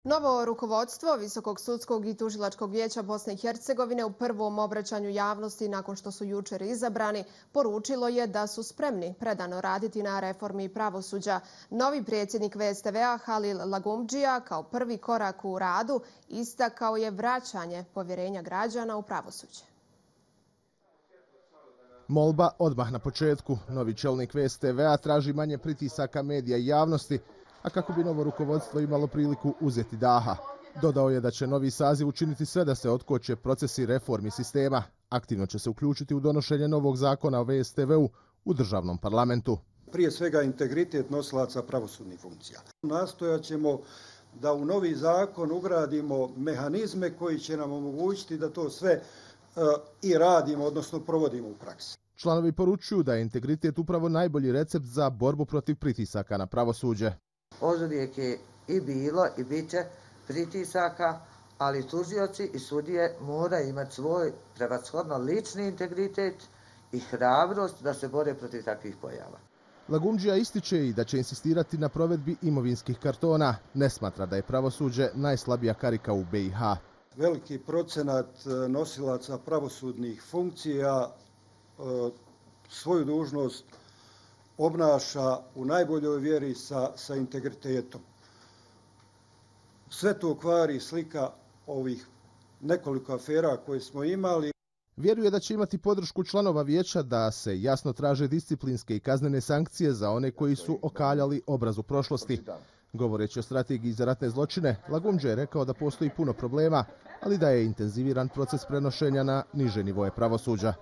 Novo rukovodstvo Visokog sudskog i tužilačkog vijeća Bosne i Hercegovine u prvom obraćanju javnosti nakon što su jučer izabrani poručilo je da su spremni predano raditi na reformi pravosuđa. Novi predsjednik VSTV-a Halil Lagumdžija kao prvi korak u radu istakao je vraćanje povjerenja građana u pravosuđe. Molba odmah na početku. Novi čelnik VSTV-a traži manje pritisaka medija i javnosti, a kako bi novo rukovodstvo imalo priliku uzeti daha. Dodao je da će novi saziv učiniti sve da se otkoče procesi reformi sistema. Aktivno će se uključiti u donošenje novog zakona o VSTV-u u državnom parlamentu. Prije svega integritet nosilaca pravosudnih funkcija. Nastojat ćemo da u novi zakon ugradimo mehanizme koji će nam omogućiti da to sve i radimo, odnosno provodimo u praksi. Članovi poručuju da je integritet upravo najbolji recept za borbu protiv pritisaka na pravosuđe. Oduvijek je i bilo i bit će pritisaka, ali tužioci i sudije moraju imati svoj prevashodno lični integritet i hrabrost da se bore protiv takvih pojava. Lagumdžija ističe i da će insistirati na provedbi imovinskih kartona. Ne smatra da je pravosuđe najslabija karika u BiH. Veliki procenat nosilaca pravosudnih funkcija svoju dužnost obnaša u najboljoj vjeri sa integritetom. Sve to kvari slika ovih nekoliko afera koje smo imali. Vjeruje da će imati podršku članova vijeća da se jasno traže disciplinske i kaznene sankcije za one koji su okaljali obraz u prošlosti. Govoreći o strategiji za ratne zločine, Lagumdžija je rekao da postoji puno problema, ali da je intenziviran proces prenošenja na niže nivoje pravosuđa.